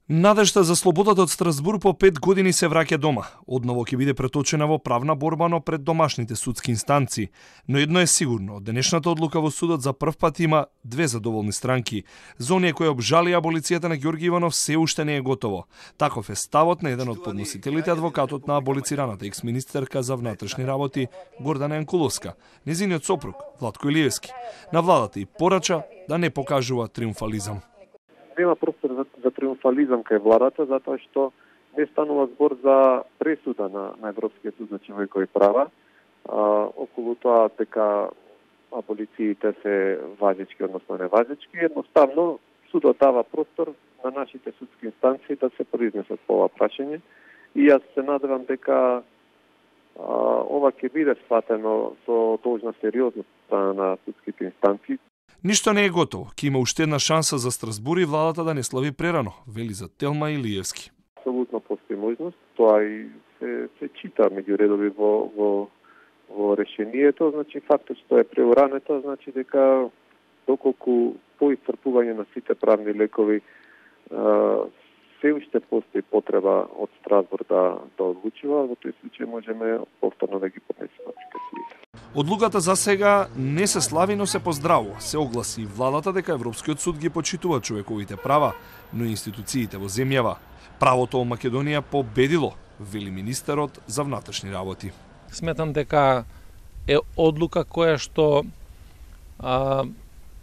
Надежта за слободата од Страсбур по 5 години се враќа дома. Одново ќе биде преточена во правна борба, но пред домашните судски инстанции. Но едно е сигурно, од денешната одлука во судот за прв пат има две задоволни странки. За оние кои обжали аболицијата на Ѓорги Иванов се уште не е готово. Таков е ставот на еден од подносителите, адвокатот на аболицираната екс-министерка за внатрешни работи Гордана Јанкуловска, незиниот сопруг Владко Илиевски. На владата и порача да не покажува триумфализам. Нема простор за триумфализам кај владата, затоа што не станува збор за пресуда на Европскиот суд за човекови права. Околу тоа дека аболициите се важечки, односно неважечки, едноставно судот дава простор на нашите судски инстанции да се произнесат по ова прашање и јас се надевам дека ова ќе биде сватено со должна сериозност на судските инстанции. Ништо не е готово. Ќе има уште една шанса за Страсбур и владата да не слави прерано, вели за Телма Илиевски. Апсолутно постои можност, тоа и се чита меѓу редови во решението, значи фактот што е преурането, значи дека доколку по исцрпување на сите правни лекови се уште постои потреба од Страсбур да одлучува, во тој случај можеме повторно да ги поднесеме апликациите. Одлуката за сега не се слави, но се поздравува. Се огласи и владата дека Европскиот суд ги почитува човековите права, но и институциите во земјава. Правото во Македонија победило, вели министерот за внатрешни работи. Сметам дека е одлука која што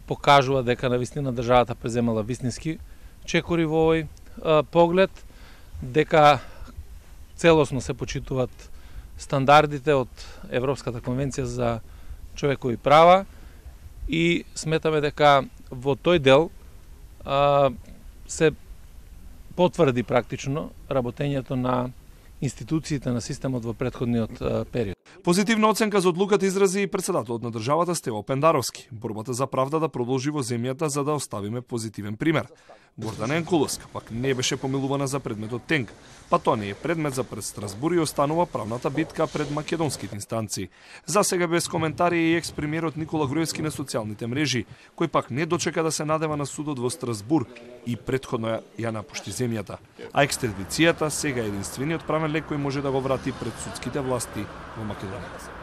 покажува дека навистина државата преземала вистински чекори во овој поглед, дека целосно се почитуваат стандардите од Европската конвенција за човекови права и сметаме дека во тој дел се потврди практично работењето на институциите на системот во претходниот период. Позитивна оценка за одлуката изрази и председателот на државата Стево Пендаровски. Борбата за правда да продолжи во земјата за да оставиме позитивен пример. Гордана Јанкуловска пак не беше помилувана за предметот Тенг, па тоа не е предмет за пред Страсбур и останува правната битка пред македонските инстанции. За сега без коментари и екс-премиерот Никола Груевски на социјалните мрежи, кој пак не дочека да се надева на судот во Страсбур и претходно ја напушти земјата. А екстрадицијата сега е единствениот правен лек кој може да го врати пред судските власти во Македонија.